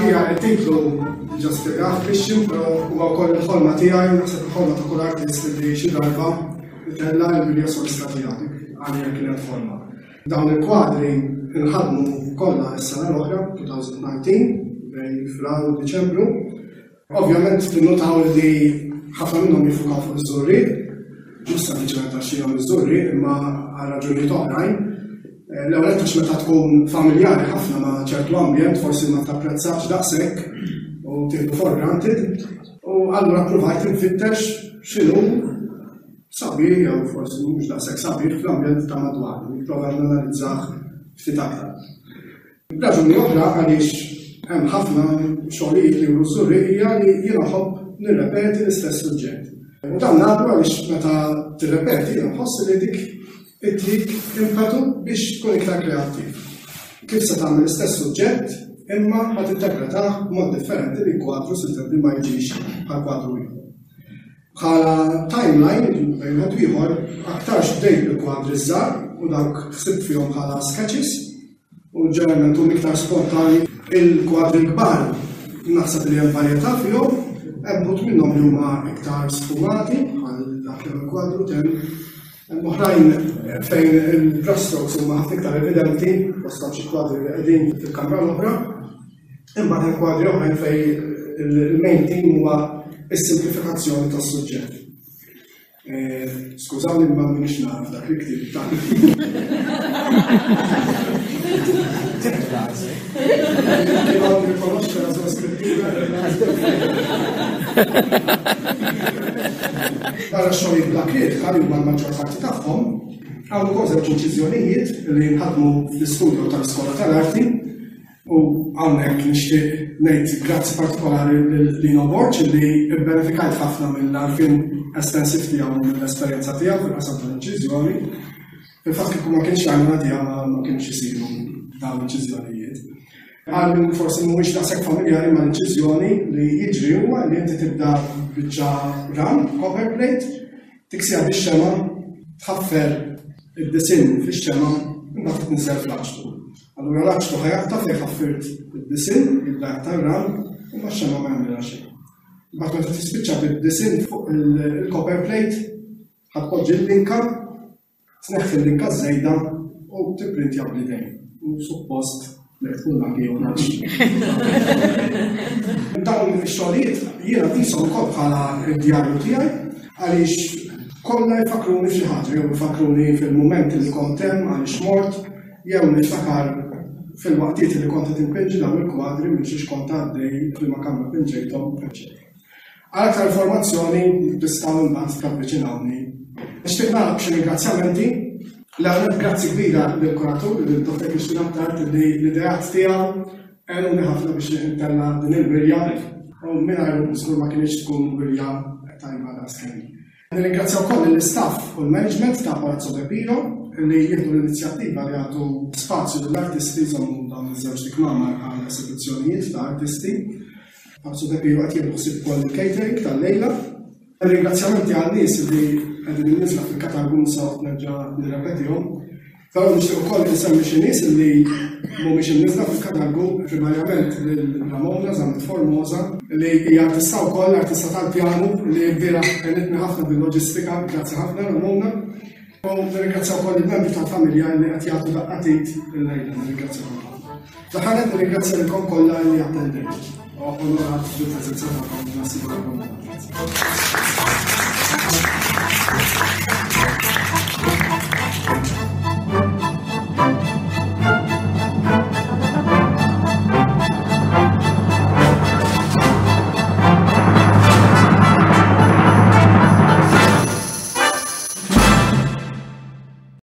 Għalija it-titlu diġà spjegah Christian, però huwa wkoll il-ħolma tiegħi, naħseb il-ħolma ta' kull artist li xi darba itella' l-wirja solista tiegħu, dik għalija kienet ħolma. Dawn il-kwadri nħadmu kollha s-sena l-oħra, 2019, bejn Frar u Diċembru. Ovvjament tinnutaw li ħafna minnhom jiffukaw fuq iż-Żurrieq, mhux sempliċement għax jiena miż-Żurrieq imma għal raġunijiet oħrajn. Eh, l-ewwel għax meta tkun familjari ħafna ma' ċertu ambjent forsi ma tapprezzax daqshekk u tieħdu for granted. U allura provajt infittex x'inhu sabiħ jew forsi mhux daqshekk sabiħ fl-ambjent ta' madwar, nipprova nanalizzah ftit aktar. Raġuni oħra għaliex hemm ħafna xogħlijiet li juru ż-Żurrieq hija li jiena nħobb nirrepeti l-istess suġġett. U dan nagħmlu għaliex meta tirrepeti jiena nħoss li dik ittik impetu biex tkun iktar kreattiv. Kif se tagħmel l-istess suġġett imma ħa tinterpretah b'mod differenti li kwadru sintendi ma jiġix bħal kwadru ieħor. Bħala timeline, bejn wieħed u ieħor, aktarx bdejt bil-kwadri ż-żgħar u dawk ħsibt fihom bħala sketches u ġeneralment huma iktar spontanji. Il-kwadri l-kbar naħseb li hemm varjetà fihom, hemm uħud minnhom li huma iktar sfumati bħal dak l-ewwel kwadru temm. Hemm oħrajn fejn il-brushstrokes huma ħafna iktar evidenti, fosthom xi kwadri li qegħdin fil-kamra l-oħra. Imbagħad hemm kwadri oħrajn fejn il-main theme huwa s-simplifikazzjoni tas-suġġett. Eh, skużawni ma minix naf dak li ktib ta' Barra xogħol bla kritika li huma l-maġġor parti tagħhom, hawn ukoll żewġ inċiżjonijiet li nħadmu fl-istudio tal-Iskola tal-Arti U hawnhekk nixtieq ngħid grazzi partikolari lil Lino Borg li bbenefikajt ħafna mill-għarfien estensiv tiegħu u mill-esperjenza tiegħu fil-qasam tal-inċiżjoni. Fil-fatt kieku ma kienx l-għajnuna tiegħu ma kienx isiru dawn l-inċiżjonijiet. Għal min forsi mhuwiex daqshekk familjari mal-inċiżjoni li jiġri huwa li inti tibda biċċa ram, copper plate, tiksiha bix-xema', tħaffer id-disinn fix-xema' imbagħad tniżżel fl-aċtu. Allura l-aċtu ħa jaqta' fejn ħaffirt id-disinn, jibda jaqta' r-ram, imma x-xemgħa ma jagħmilha xejn. Imbagħad meta tispiċċa bid-disinn fuq il-copper plate, ħa tpoġġi l-linka, tneħħi l-linka żejda u tipprintja bl-idejn. U suppost jekk tkun lucky joħroġ. Dawn ix-xogħlijiet jiena qishom ukoll bħala d-djarju tiegħi għaliex kollha jfakkruni f'xi ħaġa jew jfakkruni fil-mument li kont hemm għaliex mort, Jew niftakar fil-waqtiet li kont qed inpinġi dawn il-kwadri minn xiex kont għaddej f'liema kamra pinġejthom, eċċetera. Għal aktar informazzjoni tistgħu imbagħad tavviċinawni. Nixtieq nagħlaq b'xi ringrazzjamenti. L-ewwel grazzi kbira lill-kuratur, lil Dr. Christian Attard li l-ideat tiegħu għenuni ħafna biex intella' din il-wirja u mingħajru żgur ma kinitx tkun wirja tajba daqskemm. Nirringrazzja wkoll lill-istaff u l-management ta' Palazzo De Piro li jieħdu l-inizjattiva li jagħtu spazju lill-artisti jżommu dawn iż-żewġt ikmamar għal esibizzjonijiet ta' artisti. Palazzo De Piro qed jieħdu ħsieb ukoll il-catering tal-lejla. Ringrazzjamenti għan-nies li qegħdin imniżżla fil-katalgu mhux se noqgħod nerġa' nirrepetihom. Però nixtieq ukoll insemmi xi nies li mhumiex imniżżla fil-katalgu, primarjament lil Ramona Zammit Formosa, li hija artista wkoll, artista tal-pjanu, li lbieraħ għenitni ħafna bil-loġistika, grazzi ħafna Ramona. U nirringrazzja wkoll il-membri tal-familja li qed jagħtu daqqa t'id illejla, nirringrazzjakom ħafna. Fl-aħħar nett nirringrazzja lilkom kollha li attendejtu. Onorat bil-preżenza tagħkom, nassigurakom. Grazzi.